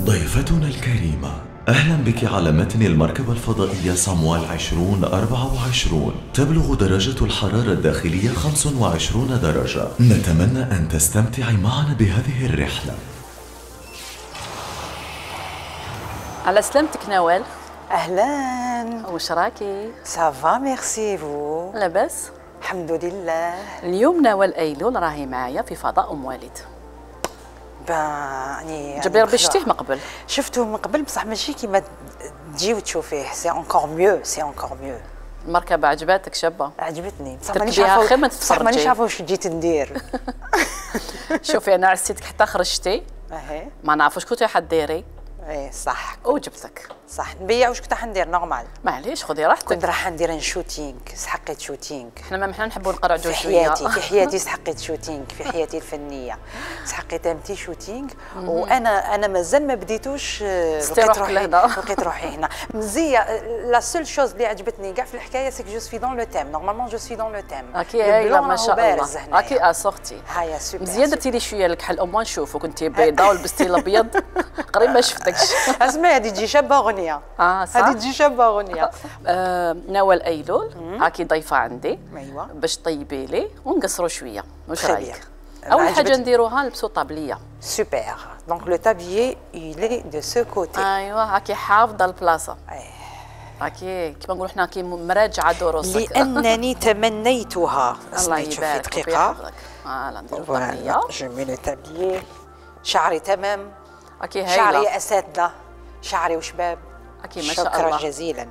ضيفتنا الكريمة، أهلا بك على متن المركبة الفضائية صاموال 2024. تبلغ درجة الحرارة الداخلية 25 درجة. نتمنى أن تستمتعي معنا بهذه الرحلة. على سلامتك نوال. أهلا. وش راكي؟ سافا ميرسي فو. لاباس؟ الحمد لله. اليوم نوال أيلول راهي معايا في فضاء أم والد. يعني جبري ربي شتيه من قبل. شفته من قبل بصح ماشي كيما تجي وتشوفيه. سي انكور ميو، سي انكور ميو. المركبة عجباتك شابة؟ عجبتني بصح مانيش عارفة خير ما تتفرجي. بصح مانيش عارفة واش جيت ندير. شوفي أنا عسيتك حتى خرجتي. ما نعرف واش كنتي حديري. ايه صح. وجبتك. صح نبيع واش كنت حندير نورمال. معليش خذي راحتك. كنت راح ندير ان شوتينغ، سحقيت شوتينغ. حنا نحبوا نقرعدوا شويه. في حياتي سحقيت شوتينغ، في حياتي الفنيه سحقيت امتي شوتينغ. وانا مازال ما بديتوش. لقيت روحي هنا مزيه. لا سول شوز اللي عجبتني كاع في الحكايه سي كو جو سوي دون لو تيم. نورمالمون جو سوي دون لو تيم. اكي هايله ما شاء الله. اكي اسورتي هيا سوبر. مزيان درتي لي شويه الكحل او موان نشوفو. كنتي بيضاء ولبستي الابيض قريب ما شفتكش. اسمعي هذه تجي شابه اغنيه. صح هذه تجي شابه اغنيه. نوال أيلول هاكي ضيفه عندي. ايوا باش طيبي لي ونقصروا شويه. واش رايك؟ اول حاجه نديروها نلبسوا طابليه. سوبر. دونك لو تابيي يلي دو سو كوتي. ايوا هاكي حافظه البلاصه. هاكي كيما نقولوا حنا كي مراجعه دروسك. لانني تمنيتها. الله يبارك فيك. فوالا نديروا طابليه. جو مي لو تابيي. شعري تمام. اكي هايله. شعري اساتذه، شعري وشباب. اكي ما شاء الله. شكرا جزيلا.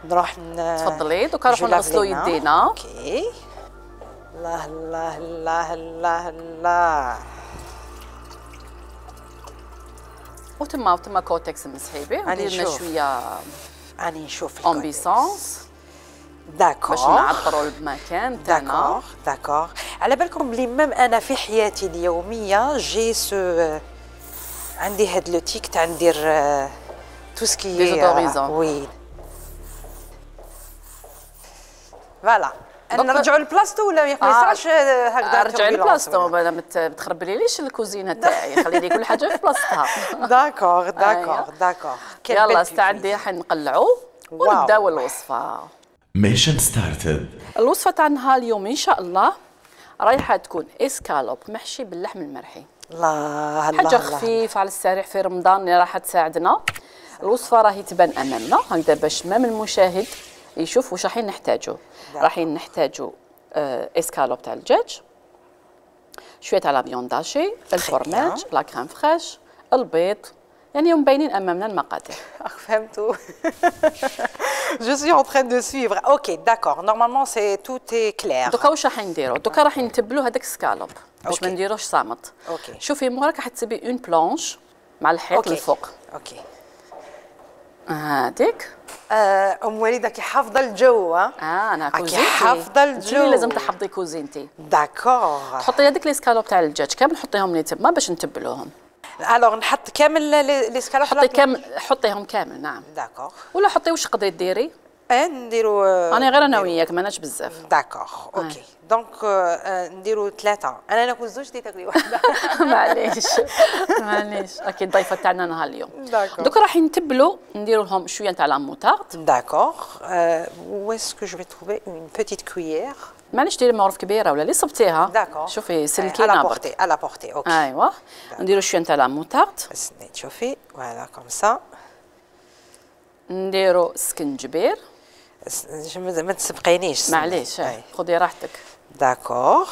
نروح تفضلي دوكا نروحوا نغسلوا يدينا. اوكي. الله الله الله الله الله. وتما كوتكس مسحي به وديرنا شويه. راني نشوف امبيسونس. داكور. باش نعطروا المكان تاعنا. داكور. على بالكم بلي ميم انا في حياتي اليوميه جي سو عندي هاد لو تيك تاع ندير تو سكي ديزودوريزون. وي فوالا. نرجعوا لبلاصتو ولا ما يصيرش هكذا؟ رجعي لبلاصتو ما تخربليليش الكوزينه تاعي. خليني كل حاجه في بلاصتها. داكور داكور داكور. يلا استعدي حنقلعوا ونبداو الوصفه. ميشن ستارتد. الوصفه تاعنا اليوم ان شاء الله رايحه تكون اسكالوب محشي باللحم المرحي. الله الله. حاجه خفيف على السريع في رمضان اللي راح تساعدنا. الوصفه راهي تبان امامنا هكذا باش مام المشاهد يشوف واش رايحين نحتاجو. رايحين نحتاجو اسكالوب تاع الدجاج، شويه تاع لا فيونداشي، الفورماج، لا كريم فريش، البيض. يعني مبينين امامنا المقادير. فهمتوا. جو سوي اون ترين دو سويفر. اوكي داكور. نورمالمون سي تو اي كلير. دوكا واش راح نديرو؟ دوكا راح نتبلو هذاك السكالوب باش ما نديروش صامت. اوكي. شوفي موراك راح تسيبي اون بلونش مع الحيط الفوق. اوكي. هذيك. ام وليده كي حافظه الجو. انا كوزينتي. حافظه الجو. لازم تحفظي كوزينتي. داكور. تحطي هذيك لي سكالوب تاع الدجاج كامل نحطيهم لي تما باش نتبلوهم. الوغ نحط كامل لي سكالوب. حطي كامل، حطيهم كامل. نعم. داكور. ولا حطي واش تقدري ديري. نديرو. انا غير انا وياك ماناش بزاف. داكور اوكي. دونك نديرو 3. انا ناكل زوج دي تاكلي واحده. معليش معليش. اكيد الضيفه تاعنا نهار اليوم. داكور. دوك راح نتبلو نديرو لهم شويه تاع لا موتارد. داكور. و اسكو جو في تروفي اون بيتيت كويير. معليش ديري معروف كبيره ولا اللي صبتيها. داكور. شوفي سلكينا على بورتي على بورتي. اوكي. ايوا نديرو شويه تاع لا موتارد. استني تشوفي فوالا كوم سا. نديرو سكنجبير. ما تسبقينيش. معليش خذي راحتك. داكور.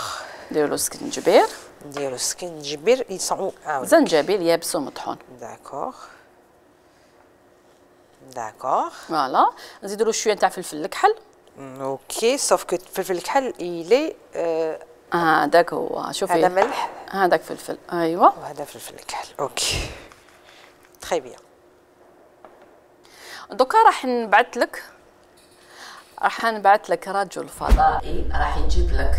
نديرو سكنجبير. نديرو سكنجبير يصعو. زنجبيل يابس ومطحون. داكور. داكور. فوالا نزيدو شويه تاع فلفل الكحل. اوكي سوف كو فلفل الكحل يلي. هذاك هو. شوفي هذا ملح. هذاك فلفل. ايوا وهذا فلفل الكحل. اوكي تري بيان. دوكا راح نبعث لك رجل فضائي راح يجيب لك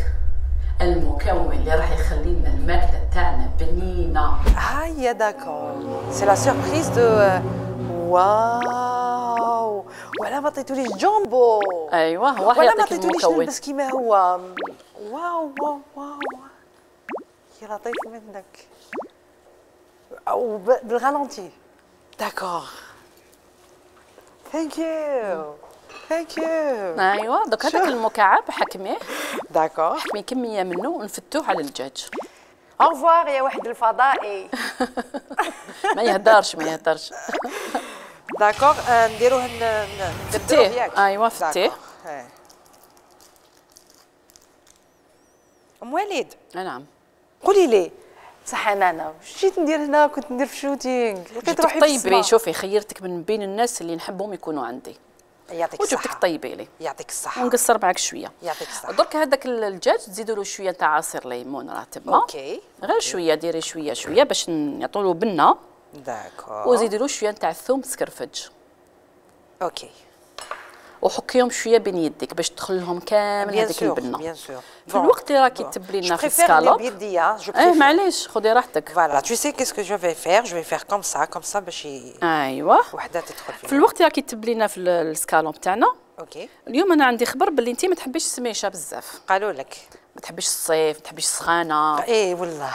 المكون اللي راح يخلي لنا الماكله تاعنا بنينه. هيا داكور. سي لا سوربريز دو. واو. ولا ما عطيتوليش جامبو. ايوا هو ولا حيعطيك ما عطيتوليش المكون. نلبس كيما هو. واو واو واو يا لطيف منك. او بالغالونتي. داكوغ. ثانك يو. ثانك يو. ايوا دوك هذاك المكعب حكميه. داكوغ. حكمي كميه منه ونفتوه على الدجاج. اوفوار يا واحد الفضائي. ما يهدرش ما يهدرش. داكوغ نديروه نديروه ياك. ايوا فتيه. ام وليد. نعم. قولي لي صح انا واش جيت ندير هنا؟ كنت ندير في شوتينغ لقيت روحي في السما. طيبي شوفي خيرتك من بين الناس اللي نحبهم يكونوا عندي. يعطيك الصحة. وجبتك طيبي لي. يعطيك الصحة. ونقصر معك شويه. يعطيك الصحة. درك هذاك الدجاج تزيدوا له شويه تاع عصير ليمون راه تما. اوكي. غير شويه ديري شويه باش نعطوا له بنه. داكور. وزيدي له شويه تاع الثوم تسكرفج. اوكي. وحكيهم شويه بين يديك باش تدخل لهم كامل هذيك البنه. بيان سور. في الوقت اللي راكي تبلي لنا في السكالوب. معليش خذي راحتك. فوالا tu sais qu'est-ce que je vais faire comme ça باش ايوا وحده تدخل فيها. في الوقت اللي راكي تبلي لنا في السكالوب تاعنا. اوكي. اليوم اليوم انا عندي خبر باللي انت ما تحبيش السميشه بزاف. قالوا لك ما تحبيش الصيف، ما تحبيش السخانه. ايه والله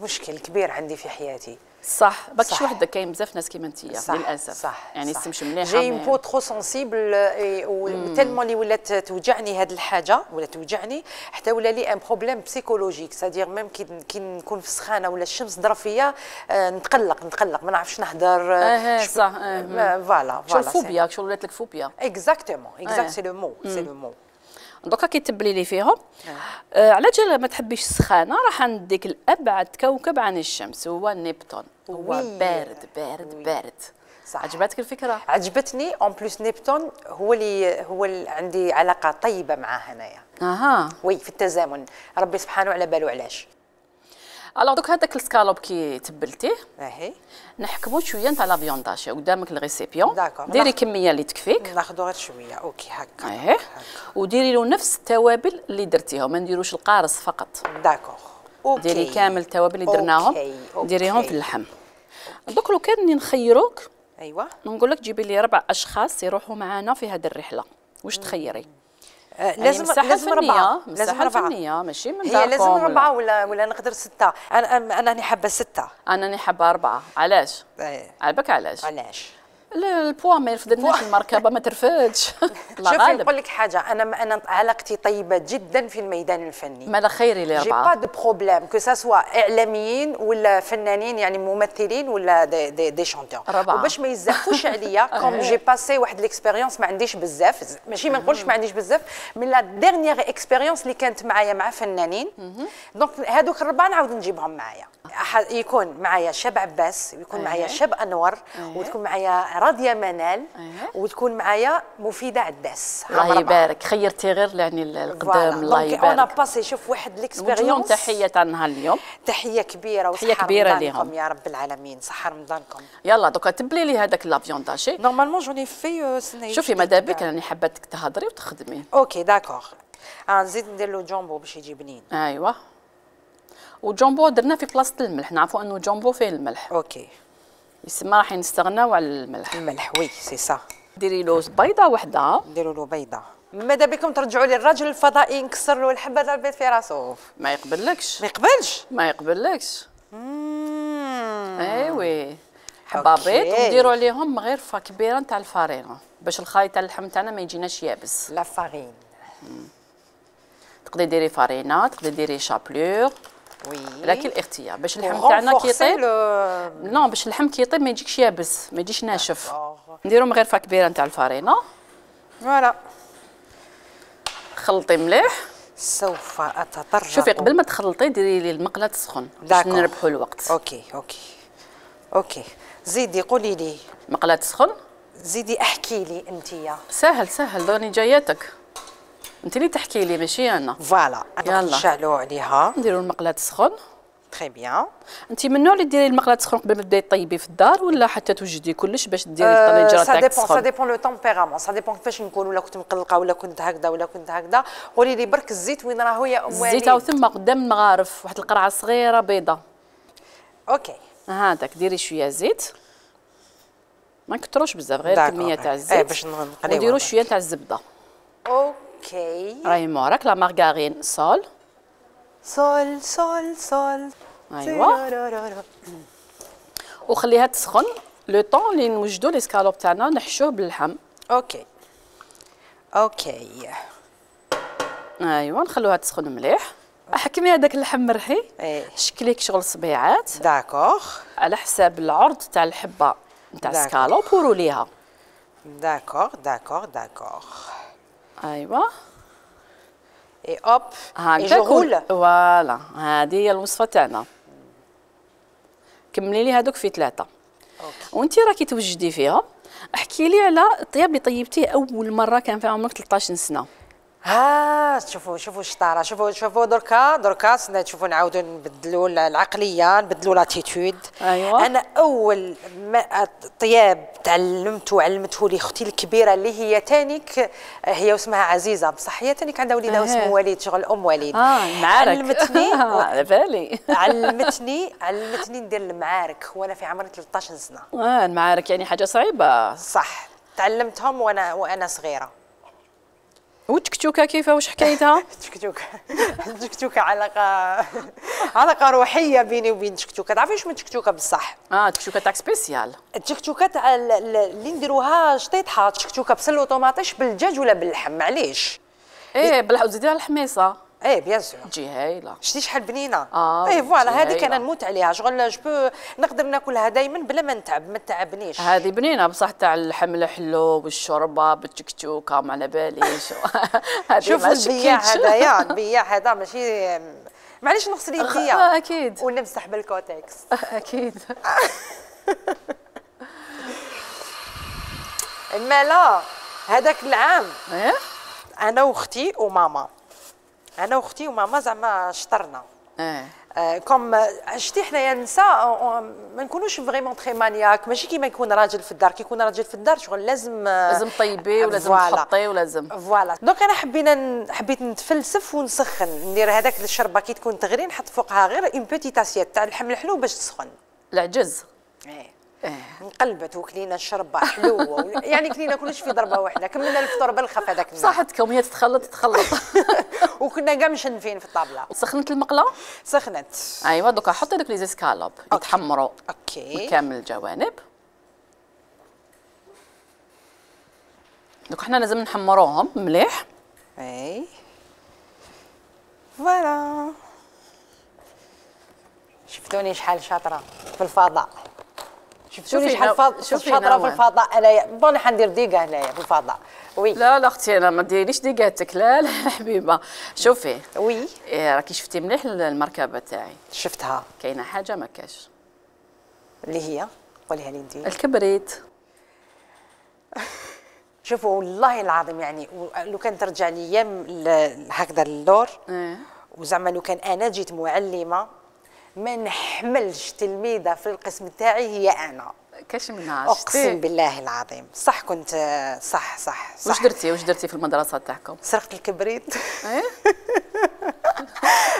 مشكل كبير عندي في حياتي. صح باكش وحده كاين بزاف ناس كيما انت للاسف. صح يعني السمش مليحه. جاي بو ترو سونسيبل وتالمون اللي ولات توجعني هذه الحاجه ولا توجعني حتى ولا لي ان بروبليم بسيكولوجيك سادير ميم كي نكون في السخانه ولا الشمس ضرب فيا نتقلق ما نعرفش نهضر. صح فوالا شو الفوبيا شو ولات لك فوبيا. اكزاكتومون سي لو مو. دوكا كي تبلي لي فيهم على جال ما تحبيش السخانه راح نديك الابعد كوكب عن الشمس هو نبتون. هو بارد. صح. عجبتك الفكره؟ عجبتني اون بليس نبتون هو اللي عندي علاقه طيبه معاه هنايا. وي في التزامن ربي سبحانه على باله علاش. الوغ دوك هذاك السكالوب كي تبلتيه نحكمو شويه نتاع لا فيونداشي قدامك الريسيبيون. ديري كميه اللي تكفيك. ناخذو غير شويه. اوكي هكا. وديري له نفس التوابل اللي درتيهم ما نديروش القارص فقط. داكوغ. اوكي. ديري كامل التوابل اللي درناهم. ديريهم في اللحم. دوك لو كان نخيروك. ايوا. نقول لك جيبي لي 4 اشخاص يروحوا معنا في هذه الرحله. واش تخيري؟ لازم 4. لازم 4 ماشي من داركم. هي لازم 4 ولا نقدر 6. انا راني حابه 6. انا راني حابه 4. علاش؟ عجبك علاش؟ البوا ما يرفدناش المركبه ما ترفدش. شوفي نقول لك حاجه انا علاقتي طيبه جدا في الميدان الفني. ماذا خيري لي 4. جي با دو بروبليم كو سا سوا اعلاميين ولا فنانين يعني ممثلين ولا دي شونتور. وباش ما يزفوش عليا كوم جي باسي واحد ليكسبيريونس ما عنديش بزاف ماشي ما نقولش ما عنديش بزاف من لا ديرنيير اكسبيريونس اللي كانت معايا مع فنانين. دونك هذوك 4 نعاود نجيبهم معايا. يكون معايا شاب عباس ويكون معايا شاب انور وتكون معايا راضيه منال وتكون معايا مفيده عداس. الله يبارك خيرتي غير يعني القدام. الله يبارك. انا باسي شوف واحد ليكسبيريونس. تحيه تاع نهار اليوم. تحيه كبيره تحيه كبيره ليهم يا رب العالمين. صح رمضانكم. يلا دوكا تبلي لي هذاك لافيون داشي. نورمالمون جوني في سنه. شوفي ماذا بك راني حباتك تهضري وتخدمي. اوكي داكوغ. نزيد ندير له جامبو باش يجي بنين. ايوا وجامبو درنا في بلاصه الملح. نعرفوا انه جامبو فيه الملح. اوكي. يسمى راح نستغناو على الملح. وي سي سا. ديري له بيضه وحده. نديروا له بيضه. ماذا بكم ترجعوا لي الراجل الفضائي نكسر له الحبه تاع البيض في راسه. ما يقبلكش. ما يقبلش. ما يقبلكش. ايوي حبه بيض ونديروا عليهم غرفه كبيره نتاع الفارينه باش الخليط تاع اللحم تاعنا ما يجيناش يابس. لا فارين. تقدري ديري فارينه تقدري ديري شابلور. وي. لكن الاختيار باش اللحم تاعنا كي يطيب. نو باش اللحم كي يطيب ما يجيكش يابس ما يجيش ناشف. نديرو غرفه كبيره نتاع الفارينه. فوالا. خلطي مليح. سوف اتطرق. شوفي قبل ما تخلطي ديري لي المقله تسخن باش نربحوا الوقت. اوكي زيدي قولي لي. مقله تسخن. زيدي احكي لي انتيا. سهل دوني جاياتك. انت اللي تحكي لي ماشي انا. فوالا انا نشعلوا عليها. نديروا المقله تسخن. تري بيان. انت من النوع اللي ديري المقله تسخن قبل ما تبداي طيبي في الدار ولا حتى توجدي كلش باش ديري الطنجره تاعك تسخن؟ سا ديبون لو تمبيرامون سا ديبون كيفاش نكون ولا كنت مقلقه ولا كنت هكذا قولي لي برك الزيت وين راهو يا ام وليد؟ الزيت او ثم قدام المغارف واحد القرعه صغيره بيضه. اوكي هذاك ديري شويه زيت ما نكتروش بزاف غير كميه تاع الزيت باش نقليو ونديروا شويه تاع الزبده. اوكي راهي موراك لا مارغارين سول. ايوا. وخليها تسخن لو طون اللي نوجدوا ليسكالوب تاعنا نحشوه باللحم. اوكي اوكي ايوا نخلوها تسخن مليح. حكمي هذاك اللحم مرحي، شكليك شغل صبيعات داكوغ على حساب العرض تاع الحبه نتاع السكالوب وروليها. داكوغ داكوغ داكوغ ايوا اي اوب اي جو رول. فوالا هذه هي الوصفه تاعنا. كملي لي هذوك في 3. وانت راكي توجدي فيها. احكي لي على الطياب اللي طيبتيه اول مره كان في عمرك 13 سنه. ها شوفوا الشطاره، شوفوا دركا تشوفوا نعاودوا نبدلوا العقليه، نبدلوا لاتيتود. أيوة. انا اول ما طياب تعلمت وعلمته لي اختي الكبيره اللي هي تانيك، هي واسمها عزيزه بصح هي تانيك عندها وليدها اسمه وليد، شغل ام وليد. المعارك علمتني على بالي علمتني ندير المعارك وانا في عمري 13 سنه. المعارك يعني حاجه صعيبه. صح، تعلمتهم وانا صغيره. وتكتوكه كيفاه واش حكايتها؟ تكتوكه علاقه روحيه بيني وبين تكتوكه. تعرفي واش من تكتوكه بصح؟ تكتوكه تاع سبيسيال. التكتوكه تاع اللي نديروها شطيطها، تكتوكه بسل وطوماطيش بالدجاج ولا باللحم معليش. بالله وزيديها الحميصه. بيان سور تجي هايله. شتي شحال بنينه. فوالا هذيك انا نموت عليها، شغل جو نقدر ناكلها دائما بلا ما نتعب، ما تعبنيش. هذه بنينه بصح تاع اللحم الحلو والشوربه بالتكتوكه ما على باليش. شوف البياع هذايا، البياع هذا ماشي معليش نغسل يديا اكيد ونمسح بالكوتكس. اكيد. اما لا هذاك العام انا واختي وماما زعما شطرنا. كوم شتي حنايا النساء ما نكونوش فريمون تري مانياك، ماشي كيما يكون راجل في الدار. كي يكون راجل في الدار شغل لازم طيبي ولازم تحطي ولازم فوالا. دونك انا حبيت نتفلسف ونسخن، ندير هذاك الشربه كي تكون تغلي نحط فوقها غير اون بوتيت اسيت تاع اللحم الحلو باش تسخن. العجز انقلبت وكلينا الشربه حلوه يعني كلينا كلش في ضربه واحده، كملنا الفطور بالخف هذاك النهار. صحتكم هي تتخلط وكنا كاع مشنفين في الطابله. سخنت المقله؟ سخنت. ايوا دوكا حطي دوك لي زيسكالوب يتحمروا اوكي كامل الجوانب. دوك حنا لازم نحمروهم مليح. فوالا. شفتوني شحال شاطره في الفضاء. شفتوني شحال شاطره في الفضاء. انايا بون حندير ديكا هنايا في الفضاء. وي لا اختي انا ما ديريش ديكاتك. لا حبيبه شوفي. وي راكي شفتي مليح المركبه تاعي. شفتها. كاينه حاجه ما كاش اللي هي قوليها لي انت. الكبريت. شوفوا والله العظيم يعني لو كان ترجع لي ايام هكذا اللور وزعما لو كان انا جيت معلمه ما نحملش تلميذه في القسم تاعي هي انا. كاش منها اقسم بالله العظيم. صح كنت صح. واش درتي في المدرسه تاعكم؟ سرقت الكبريت.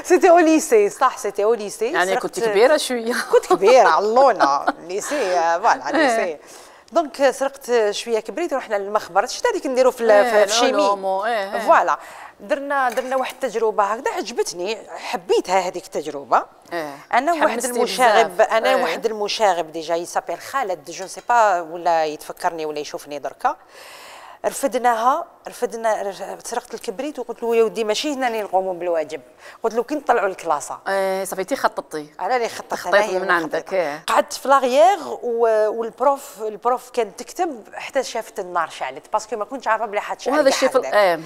سيتي او ليسي. صح سيتي او ليسي. يعني كنت كبيره شويه. كنت كبيره علونا ليسي فوالا ليسي. دونك سرقت شويه كبريت ورحنا للمخبر. شفت هذيك نديروا في الشيمي. فوالا درنا واحد التجربه هكذا عجبتني، حبيتها هذيك التجربه. انا واحد المشاغب ديجا يسابيل خالد جو سي با ولا يتفكرني ولا يشوفني دركا. رفدنا سرقت الكبريت وقلت له يا ودي ماشي هنا اللي نقوموا بالواجب، قلت له كي نطلعوا الكلاسه. صافيتي خططتي. انا اللي خططت من عندك. قعدت في لاغيير والبروف كانت تكتب حتى شافت النار شعلت باسكو ما كنتش عارفه بلي حتشعل. وهذا الشيء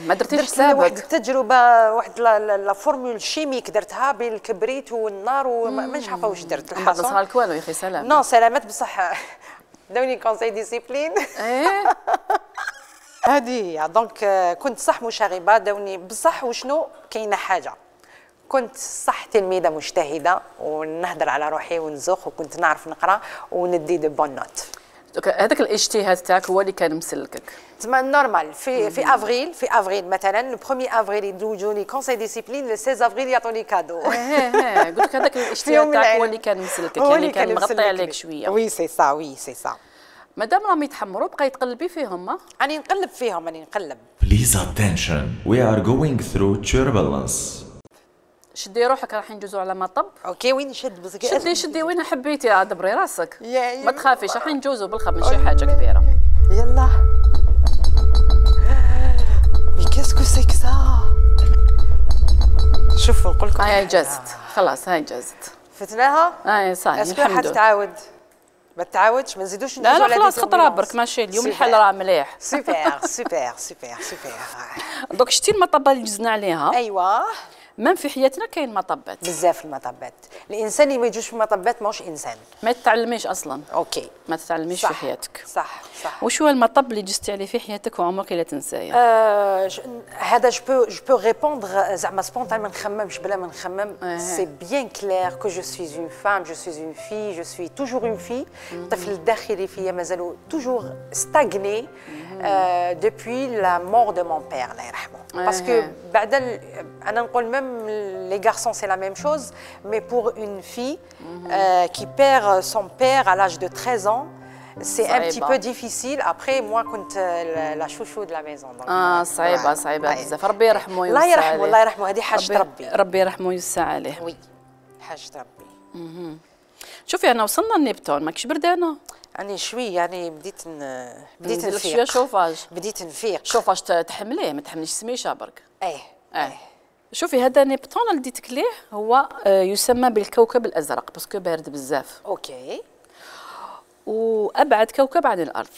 ما درتيش حسابك. واحد التجربه واحد لا فورمول شيميك درتها بين الكبريت والنار ومانيش عارفه واش درت. الحصه ما صار والو يا اخي سلام. نو سلامات بصح دوني كونساي ديسيبلين. هذه دونك كنت صح مشاغبه داوني بصح. وشنو كاينه حاجه كنت صح تلميذه مجتهده ونهضر على روحي ونزوق وكنت نعرف نقرا وندي دو بون نوت. هذاك الاجتهاد تاعك هو اللي كان مسلكك. تسمى نورمال في افريل مثلا لو 1 افريل يدوجوني كونساي ديسيبلين، لو 16 افريل يعطوني كادو. قلت لك هذاك الاجتهاد تاعك هو اللي كان مسلكك، يعني كان مغطي عليك شويه. وي سي سا. مادام راهم يتحمروا بقاي تقلبي فيهم. راني نقلب فيهم. Please attention, we are going through turbulence. شدي روحك راح ندوزو على مطب. اوكي وين نشد بس شدي وين حبيتي، عاد دبري راسك ما تخافيش، راح ندوزو بالخف ماشي حاجه كبيره. يلا مي كاسكو سي كسا. شوفوا نقول لكم هاي جازت خلاص، هاي جازت فتناها. هاي صاي الحمد لله. تعاود ما تعاودش ما نزيدوش لا لا خلاص خطره برك ماشي اليوم الحال راه مليح. سوبر سوبر سوبر سوبر. دوك شتي المطبه اللي جزنا عليها. ايوه مام في حياتنا كاين مطبات بزاف. المطبات الانسان اللي ما يجوش في المطبات ماهوش انسان. ما تتعلميش اصلا. اوكي ما تتعلميش في حياتك. صح صح. وش هو المطب اللي جزتي عليه في حياتك وعمرك لا تنساه؟ هذا جو بو ريبوندر زعما سبونتان ما نخممش بلا ما نخمم. سي بيان كلير كو جو سوي اون فام، جو سوي اون في، جو سوي توجور اون في. الطفل الداخلي فيا مازالو توجور ستاغني دوبوي لا مور دو مون بير الله يرحمه. باسكو بعد انا نقول ميم les garçons c'est la même chose, mais pour une fille qui perd son père à l'âge de 13 ans, c'est un petit peu difficile. Après, moi, كنت la chouchou de la maison. صعيبة صعيبة بزاف. ربي يرحمه ويوسع عليه. الله يرحمه الله يرحمه، هذه حاجة ربي. ربي يرحمه ويوسع عليه. وي حاجة ربي. شوفي أنا وصلنا لنيبتون، ماكش بردانة؟ يعني شوي يعني بديت نفيق شوية شوفاج. بديت نفيق. شوفاج تحمليه ما تحمليش سميشة برك. ايه شوفي هذا نيبتون اللي ديتك ليه هو يسمى بالكوكب الازرق باسكو بارد بزاف. اوكي. وابعد كوكب عن الارض.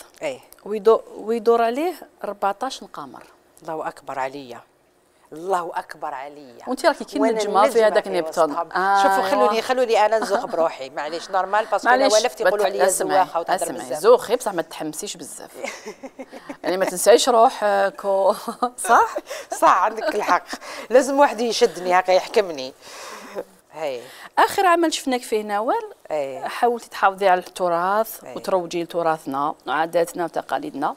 ويدور عليه 14 قمر. الله اكبر عليا، الله اكبر عليا. وانت راكي كي نجمه في هذاك نيبتون. شوفوا خلوني انا نزوق بروحي معليش نورمال باسكو انا ولفت يقولوا عليا زواخه وتهضر بزاف. زوخي بصح ما تحمسيش بزاف. يعني ما تنسايش روحك صح؟ صح عندك الحق، لازم واحد يشدني هكا يحكمني. هاي اخر عمل شفناك فيه نوال حاولتي تحافظي على التراث وتروجي لتراثنا وعاداتنا وتقاليدنا.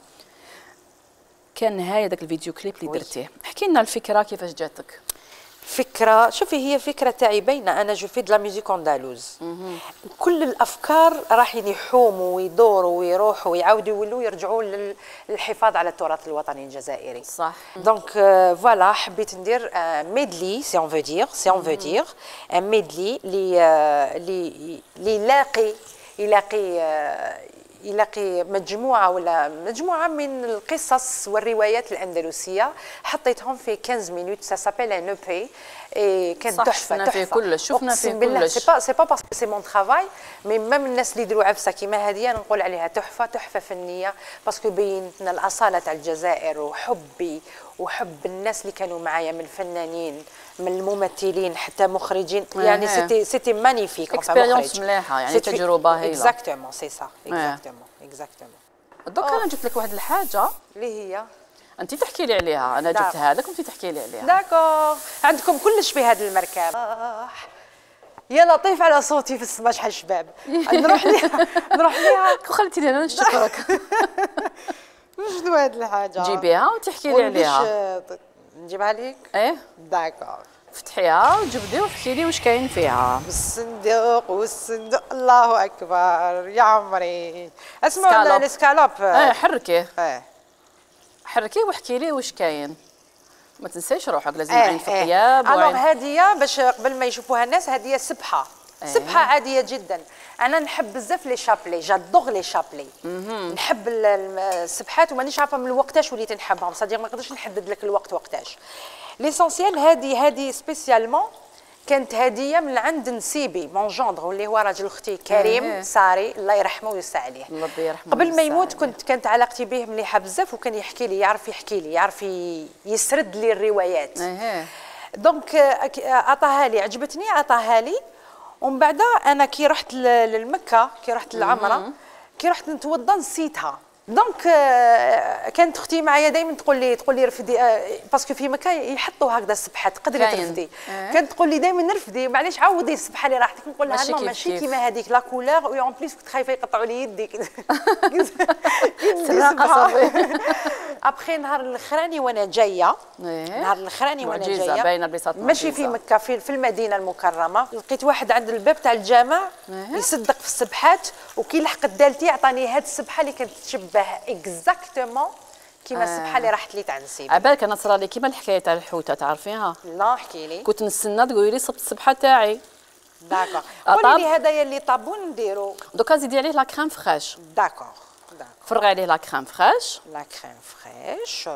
كان نهاية داك الفيديو كليب اللي درتيه، احكي لنا الفكرة كيفاش جاتك؟ فكرة شوفي هي فكرة تاعي باينة، أنا جو في دو لا ميوزيك أندالوز. كل الأفكار راح يحوموا ويدوروا ويروحوا ويعاودوا يولوا يرجعوا للحفاظ على التراث الوطني الجزائري. صح. دونك فوالا حبيت ندير ميدلي سي اون فو دير ان ميدلي اللي يلاقي مجموعة من القصص والروايات الأندلسية، حطيتهم في 15 مينوت. سا سابيل ان او بي. كانت تحفة. شفنا فيه كلش، شفنا فيه كلش. سي با باسكو سي مون ترافاي، مي ميم الناس اللي يديروا عفسة كيما هذه انا نقول عليها تحفة فنية، باسكو بينت لنا الأصالة تاع الجزائر وحبي وحب الناس اللي كانوا معايا من الفنانين من الممثلين حتى مخرجين. يعني سيتي مانيفيك. اكسبيريونس مليحه، يعني تجربه هايله. اكزاكتومون سي سا. اكزاكتومون. دوك انا جبت لك واحد الحاجه اللي هي انت تحكي لي عليها، انا جبتها لك وانت تحكي لي عليها. داكور. عندكم كلش في هذا المركب. يا لطيف على صوتي في السما شحال شباب. نروح ليها وخليتيني انا نشكرك. شنو هاد الحاجه؟ جيبيها وتحكي لي عليها. نجيبها لك؟ داكور. فتحيها وجبدي وحكي لي واش كاين فيها. بالصندوق والصندوق الله اكبر يا عمري. اسمعوا الاسكالوب. حركيه. حركيه واحكي لي واش كاين. ما تنسايش روحك لازم عين في الطياب. الوغ هاديه باش قبل ما يشوفوها الناس، هاديه سبحه. سبحه عاديه جدا. انا نحب بزاف لي شابلي، جادوغ لي شابلي. نحب السبحات ومانيش عارفه من وقتاش وليت نحبهم، صديق ما نقدرش نحدد لك الوقت وقتاش. ليسونسيال هذه سبيسيالمون كانت هديه من عند نسيبي مون جوندر واللي هو راجل اختي كريم ساري الله يرحمه ويوسع عليه. الله يرحمه. قبل ما يموت كانت علاقتي به مليحه بزاف، وكان يحكي لي يعرف يسرد لي الروايات. دونك عطاها لي، عجبتني عطاها لي. ومن بعد انا كي رحت للمكه، كي رحت للعمره، كي رحت نتوضا نسيتها. دونك كانت اختي معايا دائما تقول لي رفدي، باسكو في مكه يحطوا هكذا السبحه تقدري ترفدي. كانت تقول لي دائما نرفدي، معليش عوضي السبحه اللي راحتك. نقول لها ماشي كيما هذيك لا كولور، اون بليس كنت خايفه يقطعوا لي يدي. ابخي نهار الاخراني وانا جايه، ماشي في مكه، في المدينه المكرمه، لقيت واحد عند الباب تاع الجامع يصدق في السبحات، وكي لحقت دالتي عطاني هاد السبحه اللي كانت تشبه اكزاكتومون كيما السبحه اللي راحت لي تاع نسيب. عبالك انا صرالي كيما الحكايه تاع الحوته تعرفيها؟ لا احكي لي. كنت نستنى تقولي لي صبت السبحه تاعي. داكور. قولي لي هذايا اللي طابون نديرو. دوكا زيدي عليه لا كريم فريش. داكور. فرغي عليه لا كريم فريش. لا كريم فريش.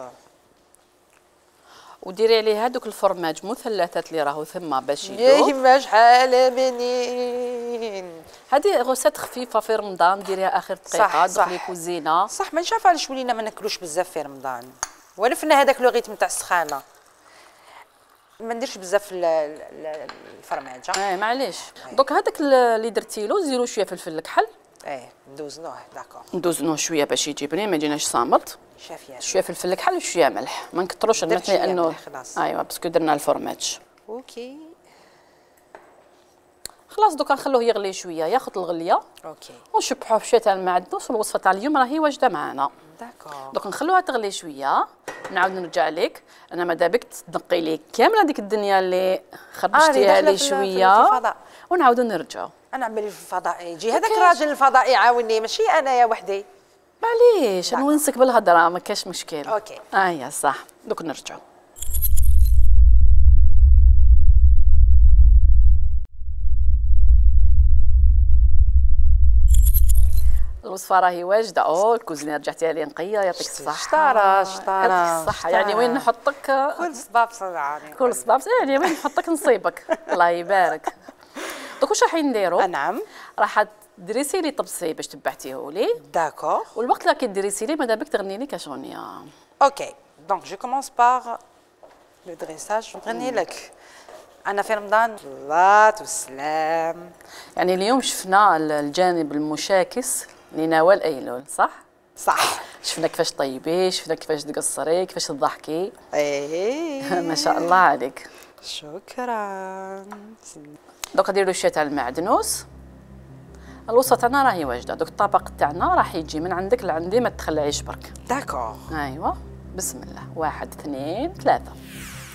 وديري عليه هذوك الفرماج مثلثات اللي راهو ثما باش يدوب. يا شحال بنين. هذه غوسات خفيفه في رمضان ديريها اخر دقيقه دخلي كوزينه. صح ما نعرف علاش ولينا ما ناكلوش بزاف في رمضان. ولفنا هذاك لو ريتم تاع السخانه. ما نديرش بزاف الفرماج. معليش. دوك هذاك اللي درتي له زيرو شويه فلفل الكحل. ندوزنوه. داكور. ندوزنوه شويه باش يجيبني ما يجيناش صامت. شويه فلفل الكحل وشويه ملح، ما نكثروش الملح لانه ايوا باسكو درنا الفرماج. اوكي خلاص دوكا نخلوه يغلي شويه ياخذ الغليه. اوكي ونشبحوه بشويه تاع المعدنوس. والوصفه تاع اليوم راهي واجده معنا. داكور. دوك نخلوها تغلي شويه نعاود نرجع لك. انا ماذا بك تنقي لي كامله هذيك الدنيا اللي خربشتيها لي شويه ونعاودو نرجعوا. انا عملي في الفضاء يجي هذاك الراجل الفضائي يعاوني ماشي انا يا وحدي. معليش نونسك بالهضره ما كاش مشكل. اوكي يا صح. دوك نرجعوا. الوصفه راهي واجده. الكوزينه رجعتيها لي نقيه يعطيك الصحه. شطاره يعطيك الصحه. يعني وين نحطك كل صباب صنعاني كل صباب يعني وين نحطك نصيبك. الله يبارك. دوك واش راح نديرو؟ نعم راح دريسي لي طبسي باش تبعتيه لي. داكور. والوقت اللي كدريسي لي ماذا بك تغني لي كاغنيه. اوكي دونك جو كومونس باغ لو دريساج. نغني لك أنا في رمضان صلاة والسلام. يعني اليوم شفنا الجانب المشاكس لنوال أيلول صح؟ صح. شفنا كيفاش طيبي، شفنا كيفاش تقصري، كيفاش تضحكي. ما شاء الله عليك. شكرا. دوك نديرو شويه تاع المعدنوس. الوصفه تاعنا راهي واجده. دوك الطبق تاعنا راح يجي من عندك لعندي ما تخلعيش برك. داكور. ايوا بسم الله. 1 2 3.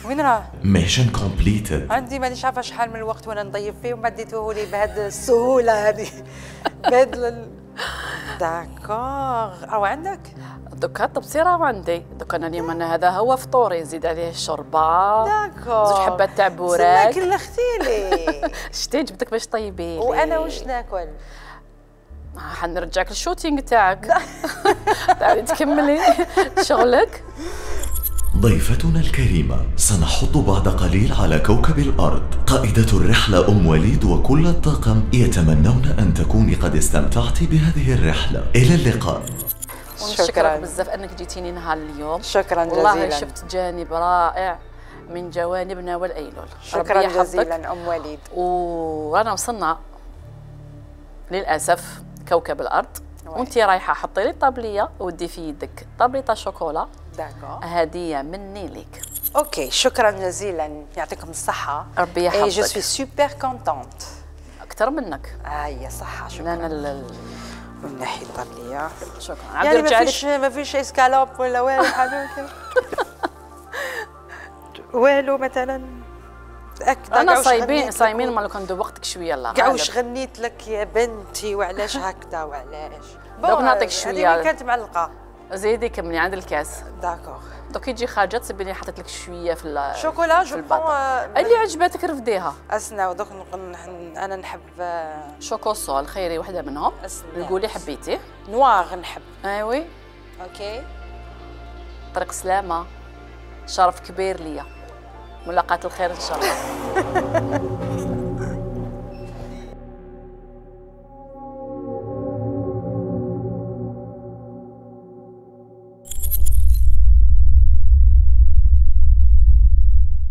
وين راه؟ ميشن كومبليتد. عندي مانيش عارفه شحال من الوقت وانا نضيف فيه وما ديتوه لي بهذه السهوله هذه. بهذا داكور. راهو عندك؟ دوكا الطبسي راهو عندي. دوكا انا اليوم انا هذا هو فطوري. نزيد عليه الشوربه. داكور. 2 حبات تاع بوراك. كلختي لي. شتي جبتك باش طيبي. وانا واش ناكل؟ حنرجعك للشوتينغ تاعك. تعالي تكملي شغلك. ضيفتنا الكريمة سنحط بعد قليل على كوكب الأرض. قائدة الرحلة أم وليد وكل الطاقم يتمنون أن تكوني قد استمتعت بهذه الرحلة. إلى اللقاء. ونشكرك بزاف أنك جيتيني نهار اليوم. شكرا جزيلا. والله شفت جانب رائع من جوانبنا والأيلول. شكرا جزيلا أم وليد. ورانا وصلنا للأسف كوكب الأرض. وانت رايحة حطي لي طابلية ودي في يدك طابلية شوكولا. داكور. هدية مني ليك. اوكي شكرا جزيلا يعطيكم الصحة. ربي يحفظك. جو سوي سوبر كونتونت. أكثر منك. يا صحة. شكرا. أنا من ناحية الطابلية. شكرا. يعني ما فيش اسكالوب ولا والو حاجة كذا. والو مثلا. انا صايمين ما لو كان وقتك شويه. الله كاع واش غنيت لك يا بنتي وعلاش هكذا وعلاش. دوك نعطيك شويه. هذه كانت معلقه. زيدي كملي عند الكاس. داكور. دوك يجي خارجه تصبي لي حطيت لك شويه في شوكولا. جو اللي عجبتك رفديها. اسنا دوك انا نحب شوكوسول خيري وحده منهم. قولي حبيتي. نوار نحب. ايوي. اوكي. طريق سلامه. شرف كبير ليا. ملاقاة الخير ان شاء الله.